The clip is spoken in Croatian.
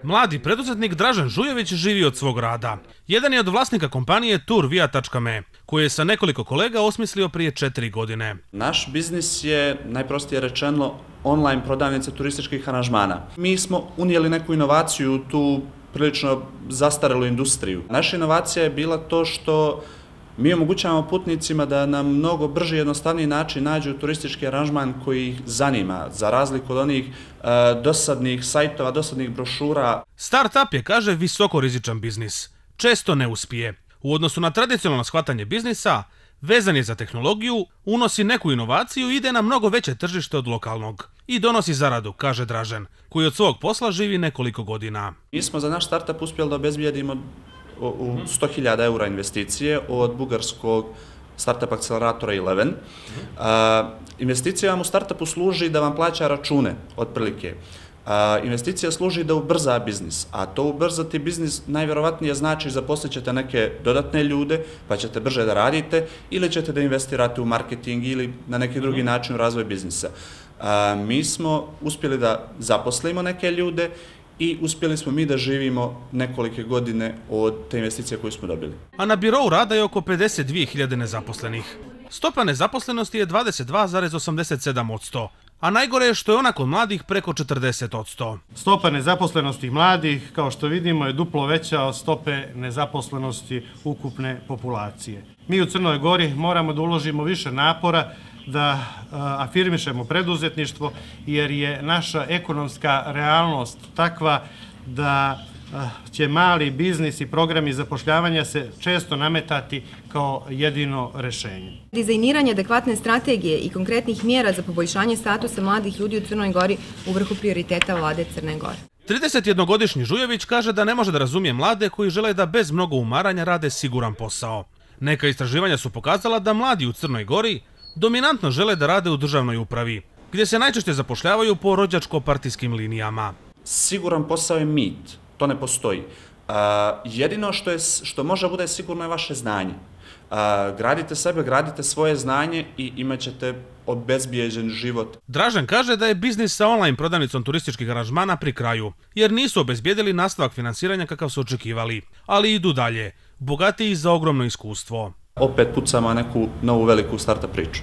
Mladi preduzetnik Dražen Žujević živi od svog rada. Jedan je od vlasnika kompanije Turvia.me, koju je sa nekoliko kolega osmislio prije 4 godine. Naš biznis je, najprostije rečeno, online prodavnica turističkih aranžmana. Mi smo unijeli neku inovaciju u tu prilično zastarelu industriju. Naša inovacija je bila to što mi omogućavamo putnicima da na mnogo brži i jednostavniji način nađu turistički aranžman koji ih zanima, za razliku od onih dosadnih sajtova, dosadnih brošura. Startup je, kaže, visoko rizičan biznis. Često ne uspije. U odnosu na tradicionalno shvatanje biznisa, vezan je za tehnologiju, unosi neku inovaciju i ide na mnogo veće tržište od lokalnog. I donosi zaradu, kaže Dražen, koji od svog posla živi nekoliko godina. Mi smo za naš startup uspjeli da obezbijedimo 100.000 eura investicije od bugarskog startup akceleratora Eleven. Investicija vam u startupu služi da vam plaća račune, otprilike. Investicija služi da ubrza biznis, a to ubrzati biznis najvjerovatnije znači zaposlit ćete neke dodatne ljude, pa ćete brže da radite ili ćete da investirate u marketing ili na neki drugi način u razvoj biznisa. Mi smo uspjeli da zaposlimo neke ljude i uspjeli smo mi da živimo nekolike godine od te investicije koju smo dobili. A na birou rada je oko 52.000 nezaposlenih. Stopa nezaposlenosti je 22,87%, a najgore je što je ona kod mladih preko 40%. Stopa nezaposlenosti mladih, kao što vidimo, je duplo veća od stope nezaposlenosti ukupne populacije. Mi u Crnoj Gori moramo da uložimo više napora da afirmišemo preduzetništvo, jer je naša ekonomska realnost takva da će mali biznis i programi zapošljavanja se često nametati kao jedino rešenje. Dizajniranje adekvatne strategije i konkretnih mjera za poboljšanje statusa mladih ljudi u Crnoj Gori u vrhu prioriteta vlade Crne Gore. 31-godišnji Žujević kaže da ne može da razumije mlade koji žele da bez mnogo umaranja rade siguran posao. Neka istraživanja su pokazala da mladi u Crnoj Gori dominantno žele da rade u državnoj upravi, gdje se najčešće zapošljavaju po rođačko-partijskim linijama. Siguran posao je mit, to ne postoji. Jedino što može bude sigurno je vaše znanje. Gradite sebe, gradite svoje znanje i imat ćete obezbijeđen život. Dražen kaže da je biznis sa online prodavnicom turističkih aranžmana pri kraju, jer nisu obezbijedili nastavak finansiranja kakav su očekivali, ali idu dalje, bogatiji za ogromno iskustvo. Opet pucamo neku novu veliku startup priču.